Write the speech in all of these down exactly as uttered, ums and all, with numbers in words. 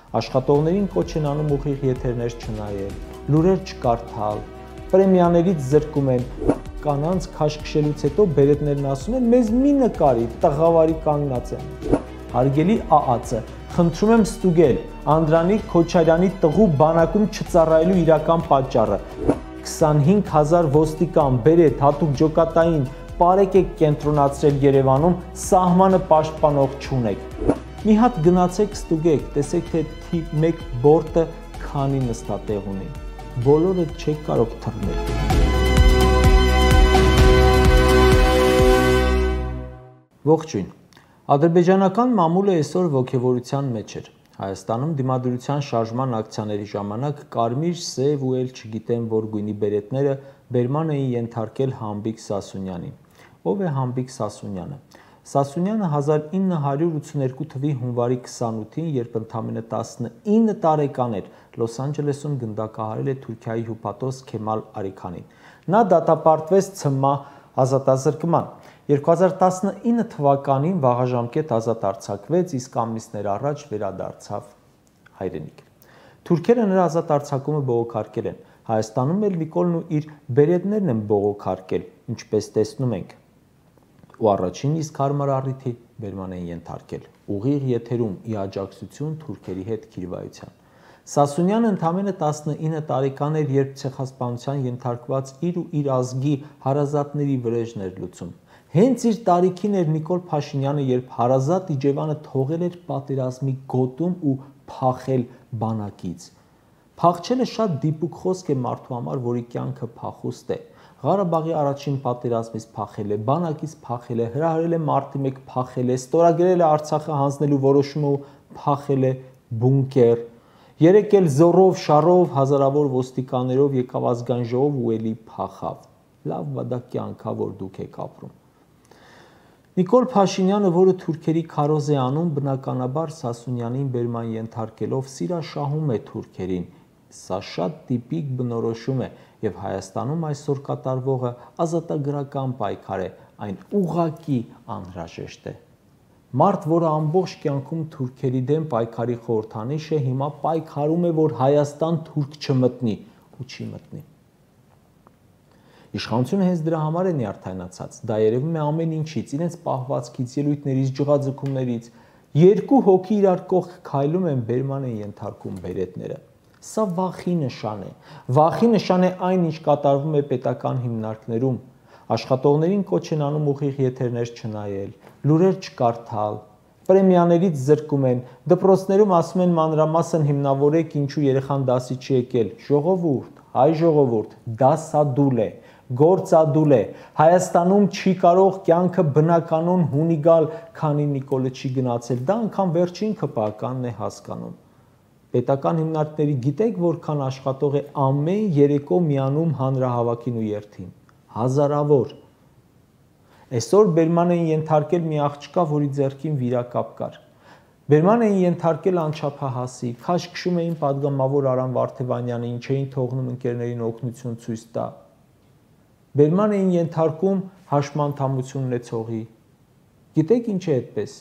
Աշխատողներին կոչ են անում ուղիղ եթերներ չնայել, լուրեր չկարդալ, պրեմիաներից զրկում են, կանանց քաշքշելուց հետո բերետներն ասում են մեզ մի նկարի, տղավարի կանգնած են։ Հարգելի ԱԱՑ-ը, խնդրում եմ ստուգել Անդրանիկ Քոչարյանի տղու բանակում չծառայելու իրական պատճառը։ քսանհինգ հազար ոստիկան, բերետ, հատուկ ջոկատային, պարեկ եք կենտրոնացրել Երևանում, սահմանը պաշտպանող չունեք։ Մի հատ գնացեք ստուգեք, տեսեք թե թիվ մեկ բորտը քանի նստատեղ ունի։ Բոլորը չեք կարող թռնել։ Ողջույն։ Ադրբեջանական մամուլը այսօր ոգևորության մեջ էր։ Հայաստանում դիմադրության շարժման ակցիաների ժամանակ կարմիր, սև ու էլ չգիտեմ որ գույնի բերետները բերման էին ենթարկել Համբիկ Սասունյանին։ Ով է Համբիկ Սասունյանը։ Սասունյանը հազար ինը հարյուր ութսուներկու թվականի հունվարի քսանութին, երբ ընդամենը տասնինը տարեկան էր, Լոս Անջելեսում գնդակահարել է Թուրքիայի հյուպատոս Քեմալ Արիքանին։ Նա դատապարտվեց ՑՄԱ ազատազրկման։ երկու հազար տասնինը թվականին վաղաժամկետ ազատ արձակվեց, իսկ ամիսներ առաջ վերադարձավ հայրենիք։ Թուրքերը նրա ազատ արձակումը բողոքարկել են։ Հայաստանում էլ Նիկոլն ու իր բերետներն են բողոքարկել, ինչպես տեսնում ենք։ Ու առաջին իսկ հարմար առիթի բերման են ենթարկել։ Ուղիղ եթերում ի աջակցություն թուրքերի հետ քիրվայության։ Սասունյանը ընդամենը տասնինը տարեկան էր, երբ ցեղասպանության ենթարկված իր ու իր ազգի հարազատների վրեժն էր լուծում։ Հենց իր տարիքին էր Նիկոլ Փաշինյանը, երբ հարազատ Իջևանը թողել էր պատերազմի գոտում ու փախել բանակից։ Փախչելը շատ դիպուկ խոսք է մարդու համար, որի կյանքը փախուստ է։ Ղարաբաղի առաջին պատերազմից փախել է, բանակից փախել է, հրահրել է մարտի մեկ փախել է, ստորագրել է Արցախը հանձնելու որոշումը ու փախել է բունկեր։ Երեք էլ զորով, շարով, հազարավոր ոստիկաններով եկավ ազգային ժողով ու էլի փախավ։ Լավ վադա կյանքա, որ դուք եք ապրում։ Նիկոլ Փաշինյանը, որը թուրքերի քարոզ է անում, բնականաբար Սասունյանին բերման ենթարկելով սիրաշահում է թուրքերին։ Սա շատ տիպիկ բնորոշում է եւ Հայաստանում այսօր կատարվողը ազատագրական պայքար է, այն ուղղակի անհրաժեշտ է։ Մարդ, որը ամբողջ կյանքում թուրքերի դեմ պայքարի խորհրդանիշ է, հիմա պայքարում է, որ Հայաստան թուրք չմտնի ու չի մտնի։ Իշխանությունը հենց դրա համար է նյարդայնացած, դա երևում է ամեն ինչից, իրենց պահվածքից, ելույթներից, ջղաձգումներից, երկու հոգի իրար կողք քայլում են, բերման են ենթարկում բերետները։ Սա վախի նշան է, վախի նշան է այն, ինչ կատարվում է պետական հիմնարկներում, աշխատողներին կոչ են անում ուղիղ եթերներ չնայել, լուրեր չկարդալ, պրեմիաներից զրկում են, դպրոցներում ասում են մանրամասն հիմնավորեք ինչու երեխան դասի չի եկել, ժողովուրդ, հայ ժողովուրդ, դասադուլ է, գործադուլ է, Հայաստանում չի կարող կյանքը բնականon հունի գալ, քանի Նիկոլը չի գնացել, դա անգամ վերջին քպականն է հասկանում։ Պետական հիմնարկների գիտեք որքան աշխատող է ամեն երեկո միանում հանրահավաքին ու երթին, հազարավոր։ Այսօր բերման էին ենթարկել մի աղջկա, որի ձեռքին վիրակապ կար։ Բերման էին ենթարկել անչափահասի, քաշքշում էին պատգամավոր Արամ Վարդևանյանին, չէին թողնում ընկերներին օգնություն ցույց տա։ Բերման էին ենթարկում հաշմանդամություն ունեցողի։ Գիտեք ինչ է այդպես։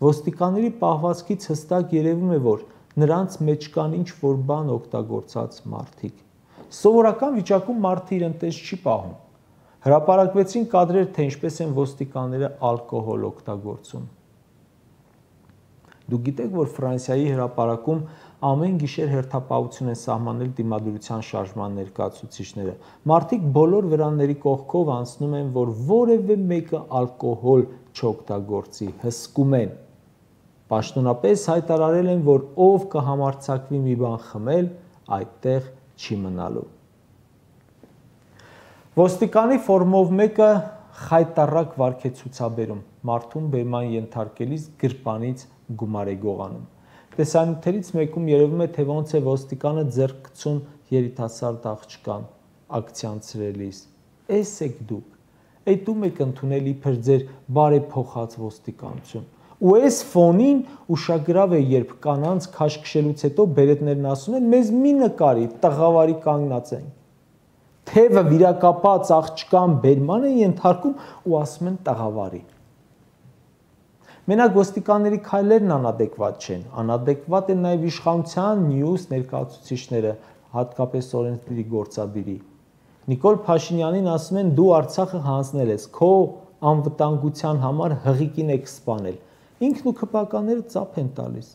Ոստիկանների պահվածքից հստակ երևում է, որ նրանց մեջ կան ինչ որ բան օգտագործած մարդիկ։ Սովորական վիճակում մարդը իր ընտես չի պահում։ Հրապարակվեցին կադրեր, թե ինչպես են ոստիկանները ալկոհոլ օգտագործում։ Դուք գիտեք, որ Ֆրանսիայի հրապարակում ամեն գիշեր հերթապահություն են սահմանել դիմադրության շարժման ներկայացուցիչները։ Մարդիկ բոլոր վրանների կողքով անցնում են, որ որևէ մեկը ալկոհոլ չօգտագործի, հսկում են։ Պաշտոնապես հայտարարել են, որ ով կհամարձակվի մի բան խմել, այդտեղ չի մնալու։ Ոստիկանի ֆորմով մեկը խայտառակ վարք է ցուցաբերում, մարդուն բերման ենթարկելիս գրպանից գումար է գողանում։ Տեսանյութերից մեկում երևում է, թե ոնց է ոստիկանը ձեռք գցում երիտասարդ աղջկան ակցիանցրելիս։ Էս եք դուք, այդում եք ընդունել իբր ձեր բարեփոխած ոստիկանություն։ Ու այս ֆոնին ուշագրավ է, երբ կանանց քաշքշելուց հետո բերետներն ասում են մեզ մի նկարի, տղավարի կանգնած են։ Թևը վիրակապած աղջկան բերման են ենթարկում ու ասում են տղավարի։ Մենակ ոստիկանների քայլերն անադեկվատ չեն, անադեկվատ են նաև իշխանության մյուս ներկայացուցիչները, հատկապես օրենսդրի գործադիրի։ Նիկոլ Փաշինյանին ասում են՝ դու Արցախը հանձնել ես, քո անվտանգության համար հղիկին եք սպանել։ Ինքն ու քպականները ծափ են տալիս։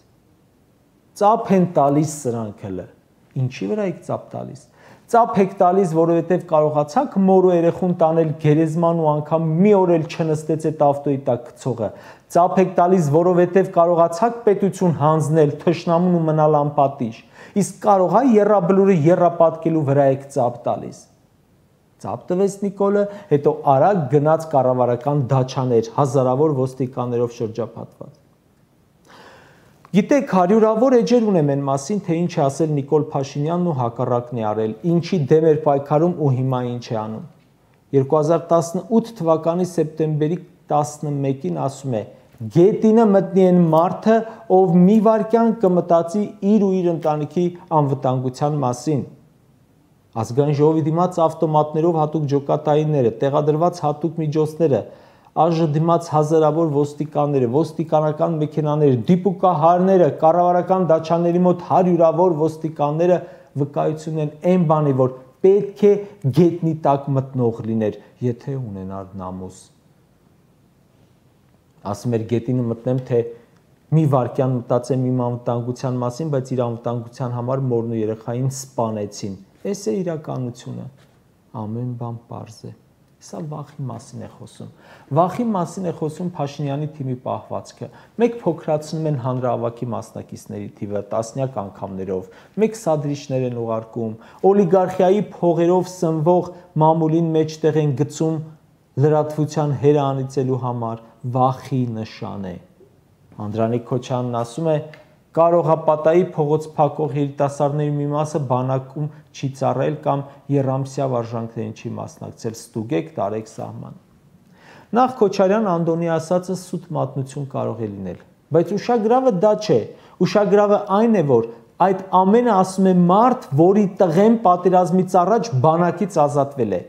Ծափ են տալիս սրանք հələ։ Ինչի վրա եք ծափ տալիս։ Ծափ եք տալիս, որովհետև կարողացաք մորու երեխուն տանել գերեզման ու անգամ մի օր էլ չնստեց այդ ավտոյի տակ գցողը։ Ծափ եք տալիս, որովհետև կարողացաք պետություն հանձնել թշնամուն ու մնալ անպատիժ։ Իսկ կարող է եռաբլուրը եռապատկելու վրա եք ծափ տալիս։ Ծափ տվեց Նիկոլը, հետո արագ գնաց կառավարական դաչաներ, հազարավոր ոստիկաններով շրջապատված։ Գիտեք, հարյուրավոր էջեր ունեմ այն մասին, թե ինչ է ասել Նիկոլ Փաշինյանն ու հակառակն է արել, ինչի դեմ էր պայքարում ու հիմա ինչ է անում։ երկու հազար տասնութ թվականի սեպտեմբերի տասնմեկին ասում է. Գետինը մտնի այն մարդը, ով մի վայրկյան կմտածի իր ու իր ընտանիքի անվտանգության մասին։ Ազգային ժողովի դիմաց ավտոմատներով հատուկ ջոկատայինները, տեղադրված հատուկ միջոցները, ԱԺ դիմաց հազարավոր ոստիկանները, ոստիկանական մեքենաները, դիպուկահարները, կառավարական դաչաների մոտ հարյուրավոր ոստիկանները վկայություն են այն բանի, որ պետք է գետնի տակ մտնող լիներ, եթե ունենար նամուս։ Ասում էր գետինը մտնեմ, թե մի վայրկյան մտածեմ իմ անվտանգության մասին, բայց իր անվտանգության համար մորն ու երեխային սպանեցին։ Էս է իրականությունը, ամեն բան պարզ է, սա վախի մասին է խոսում, վախի մասին է խոսում Փաշինյանի թիմի պահվածքը, մեկ փոքրացնում են հանրահավաքի մասնակիցների թիվը տասնյակ անգամներով, մեկ սադրիչներ են ուղարկում, օլիգարխիայի փողերով սնվող մամուլին մեջտեղ են գցում լրատվության հերը անիծելու համար, վախի նշան է։ Անդրանիկ Քոչյանն ասում է, կարող է պատայի փողոց փակող երիտասարդների մի մասը բանակում չի ծառայել կամ երամսյա վարժանքներին չի մասնակցել, ստուգեք, տարեք սահման։ Նախ Քոչարյան Անդոնի ասածը սուտ մատնություն կարող է լինել, բայց ուշագրավը դա չէ, ուշագրավը այն է, որ այդ ամենը ասում է մարդ, որի տղեն պատերազմից առաջ բանակից ազատվել է։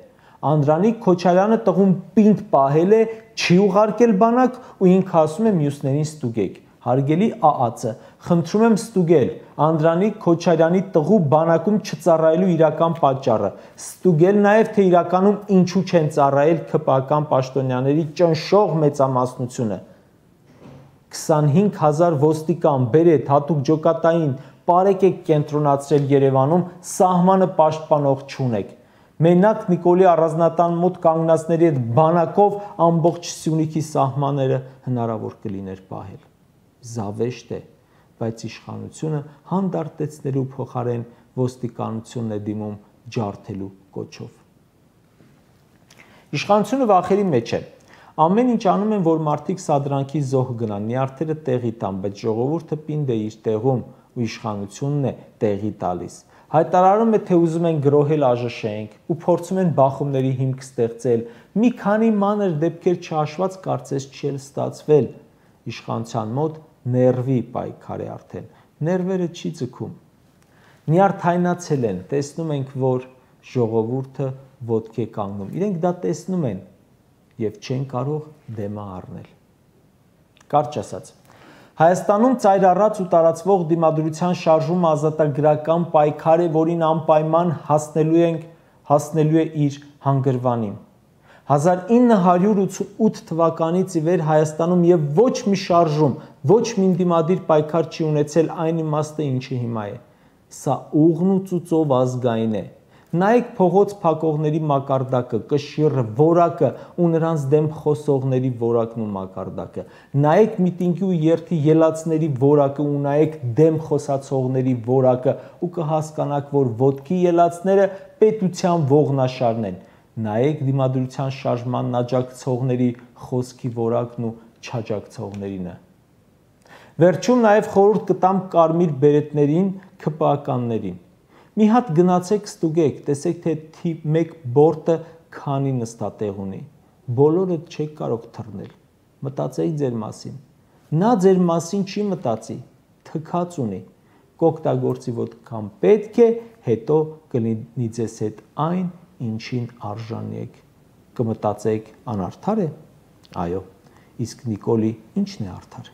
Անդրանիկ Քոչարյանը տղուն պինդ պահել է, չի ուղարկել բանակ ու ինքը ասում է մյուսներին ստուգեք։ Հարգելի ԱԱՑ-ը, խնդրում եմ ստուգել Անդրանիկ Քոչարյանի տղու բանակում չծառայելու իրական պատճառը, ստուգել նաև թե իրականում ինչու չեն ծառայել ՔՊԱ-ական պաշտոնյաների ճնշող մեծամասնությունը։ քսանհինգ հազար ոստիկան, բերետ, հատուկ ջոկատային, պարեկ եք կենտրոնացրել Երևանում, սահմանը պաշտպանող չունեք։ Մենակ Նիկոլի առանձնատան մոտ կանգնածների հետ բանակով ամբողջ Սյունիքի սահմանները հնարավոր կլիներ պահել։ Զավեշտ է, բայց իշխանությունը հանդարտեցնելու փոխարեն ոստիկանությունն է դիմում ջարդելու կոչով։ Իշխանությունը վախերի մեջ է։ Ամեն ինչ անում են, որ մարդիկ սադրանքի զոհ գնան, նյարդերը տեղի տան, բայց ժողովուրդը պինդ է իր տեղում ու իշխանությունն է տեղի տալիս։ Հայտարարում է, թե ուզում են գրոհել ԱԺՇ-ենք ու փորձում են բախումների հիմք ստեղծել, մի քանի մանր դեպքեր չհաշված կարծես չի էլ ստացվել։ Իշխանության մոտ ներվի պայքար է արդեն, ներվերը չի ձգում։ Նյարդայնացել են, տեսնում ենք, որ ժողովուրդը ոտքի է կանգնում, իրենք դա տեսնում են և չեն կարող դեմը առնել։ Կարճ ասած, Հայաստանում ծայր առած ու տարածվող դիմադրության շարժումը ազատագրական պայքար է, որին անպայման հասնելու ենք, հասնելու է իր հանգրվանին։ հազար ինը հարյուր ութ թվականից ի վեր Հայաստանում եւ ոչ մի շարժում, ոչ մի դիմադիր պայքար չի ունեցել այն իմաստը, ինչի հիմա է։ Սա ուղն ու ծուծով ազգային է։ Նայեք փողոց փակողների մակարդակը, կշիռը, որակը ու նրանց դեմ խոսողների որակն ու մակարդակը։ Նայեք միտինգի ու երթի ելածների որակը ու նայեք դեմ խոսացողների որակը ու կհասկանաք, որ ոտքի ելածները պետության ողնաշարն են։ Նայեք դիմադրության շարժմանն աջակցողների խոսքի որակն ու չաջակցողներինը։ Վերջում նաև խորհուրդ կտամ կարմիր բերետներին, ՔՊԱ-ականներին։ Մի հատ գնացեք ստուգեք, տեսեք, թե թիվ մեկ բորտը քանի նստատեղ ունի։ Բոլորը չեք կարող թռնել։ Մտածեի ձեր մասին։ Նա ձեր մասին չի մտածի, թքած ունի։ Կօգտագործի ոտքան պետք է, հետո կլինի ձեզ հետ այն, ինչին արժանի եք։ Կմտածեք անարդար է։ Այո, իսկ Նիկոլի ի՞նչն է արդար։